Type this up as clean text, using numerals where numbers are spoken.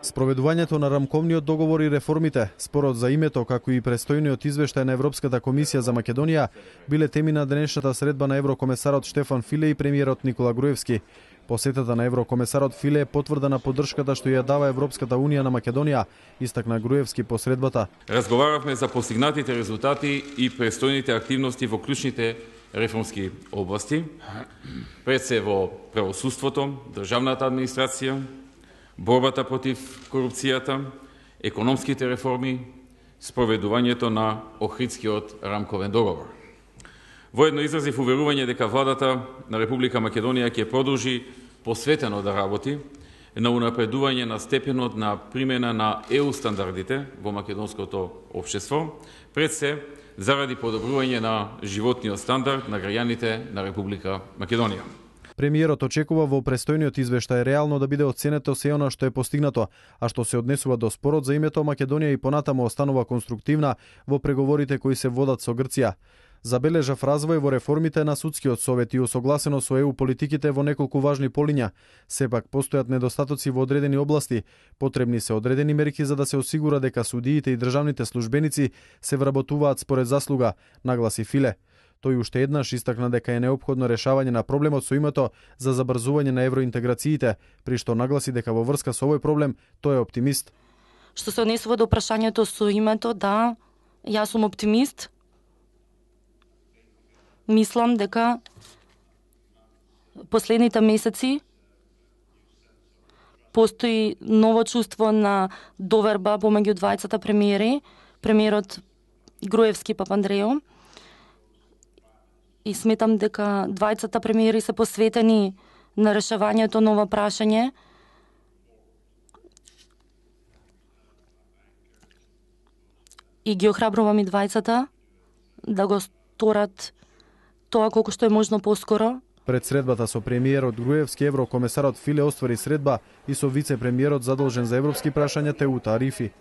Спроведувањето на рамковниот договор и реформите, спорот за името, како и престојниот извештај на Европската комисија за Македонија, биле теми на денешната средба на еврокомесарот Штефан Филе и премиерот Никола Груевски. Посетата на еврокомесарот Филе е потврда на поддршката што ја дава Европската унија на Македонија, истакна Груевски по средбата. Разговаравме за постигнатите резултати и престојните активности во клучните реформски области, пред се во правосудството, државната администрација, борбата против корупцијата, економските реформи, спроведувањето на Охридскиот рамковен договор. Воедно изразив уверување дека владата на Република Македонија ќе продолжи посветено да работи на унапредување на степенот на примена на ЕУ стандардите во македонското општество, пред се заради подобрување на животниот стандард на граѓаните на Република Македонија. Премиерот очекува во престојниот извештај реално да биде оценето се она што е постигнато, а што се однесува до спорот за името Македонија и понатаму останува конструктивна во преговорите кои се водат со Грција. Забележав развој во реформите на судскиот совет и усогласено со ЕУ политиките во неколку важни полиња. Сепак постојат недостатоци во одредени области. Потребни се одредени мерки за да се осигура дека судиите и државните службеници се вработуваат според заслуга, нагласи Филе. Тој уште еднаш истакна дека е неопходно решавање на проблемот со името за забрзување на евроинтеграциите, при што нагласи дека во врска со овој проблем тој е оптимист. Што се однесува до прашањето со името, да, јас сум оптимист. Мислам дека последните месеци постои ново чувство на доверба помеѓу двајцата премиери, премиерот Груевски и Папандреју. И сметам дека двајцата премиери се посветени на решавањето на ова прашање. И ги охрабрувам и двајцата да го сторат тоа колку што е можно поскоро. Пред средбата со премиерот Груевски, еврокомесарот Филе оствари средба и со вице-премиерот задолжен за европски прашања Теута Арифи.